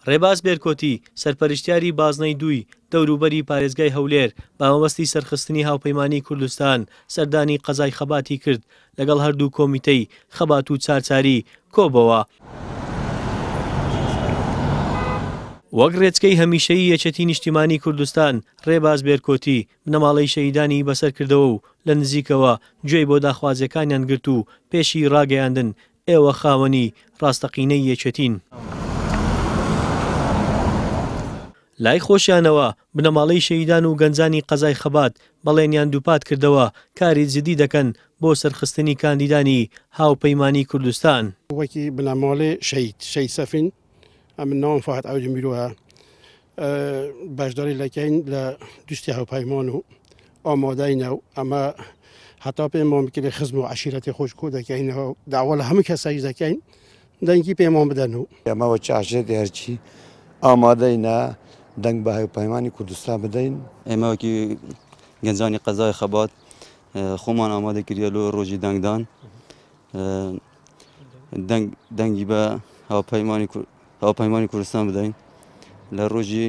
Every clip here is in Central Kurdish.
ڕێباز بێرکۆتی، سەرپەرشتیاری بازنەی دووی دەوروبەری پارێزگای هەولێر بە مەبەستی سەرخستنی هاوپەیمانیی کوردستان سەردانی قەزای خەباتی کرد، لەگەڵ هەردوو کۆمیتەی خەبات و چارچاری کۆبۆوە. وەک ڕێچکەی هەمیشەیی یەکێتی نیشتیمانی کوردستان، ڕێباز بێرکۆتی، بنەماڵەی شەهیدانی بەسەر کردەوە و لە نزیکەوە گوێی بۆ داخوازیەکانیان گرت و پێشی ڕاگەیاندن ئێوە خاوەنی ڕاستەقینەی یەکێتین. لای خۆشیانەوە بنەماڵەی شەهیدان و گەنجانی قەزای خەبات بەڵێنیان دووپات کردەوە کاری جدی دەکەن بۆ سەرخستنی کاندیدانی هاوپەیمانی کوردستان. وەکی بنەماڵەی شەهید، شەهید سەفین، ئەمن ناوم فواد عەبدی میرۆیە، بەشداری لەکەین لە دوستی هاوپەیمان و ئامادەینە و ئەمە هەتا پێمان بکرێ خزم و عەشیرەتی خۆش کۆ دەکەینەوە و داوا لە هەموو کەسێک دەکەین دەنگی پێمان بدەن و. ئێمە وەکی عەشیرەتی هەرکی ئامادەینە دەنگ بە هاوپەیمانی کوردستان بدەین. ئێمە وەکی گەنجانی قەزای خەبات خۆمان ئامادە کردیە لۆ ڕۆژی دەنگدان دەنگ دەنگی بە هاوپەیمانی هاوپەیمانی کوردستان بدەین لە ڕۆژی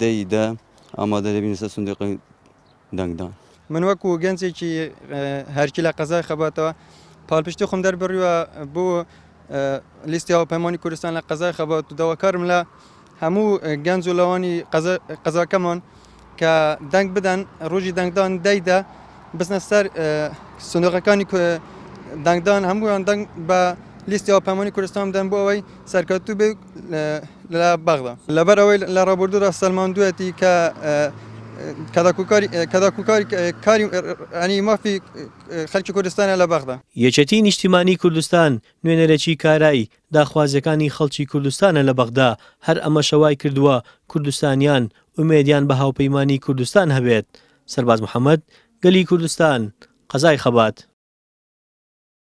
دەی دە ئامادە دەبین لەسەر سندوقی دەنگدان. من وەکو گەنجێکی هەرکی لە قەزای خەباتەوە پاڵپشتی خۆم دەربڕیوە بۆ لیستی هاوپەیمانی کوردستان لە قەزای خەبات و داواکارم لە هەموو گەنج و لاوانی قەزاکەمان کە دەنگ بدەن ڕۆژی دەنگدان دەیدە بچنە سەر سندوقەکانی دەنگدان هەموویان دەنگ بە لیستی هاوپەیمانی کوردستان بدەن بۆ ئەوەی سەرکەوتوو بێ لە بەغدا. لەبەر ئەوەی لە ڕابردوودا سەلماندوویەتی کە کەداکوکاری کاری ینی مافی خەلکی کوردستانە لە بەغدا. یەکێتی نیشتیمانی کوردستان نوێنەرێکی کارای داخوازیەکانی خەڵکی کوردستانە لە بەغدا، هەر ئەمەشە وای کردووە کوردستانیان ئومێدیان بە هاوپەیمانی کوردستان هەبێت. سەرباز محەمەد، گەلی کوردستان، قەزای خەبات.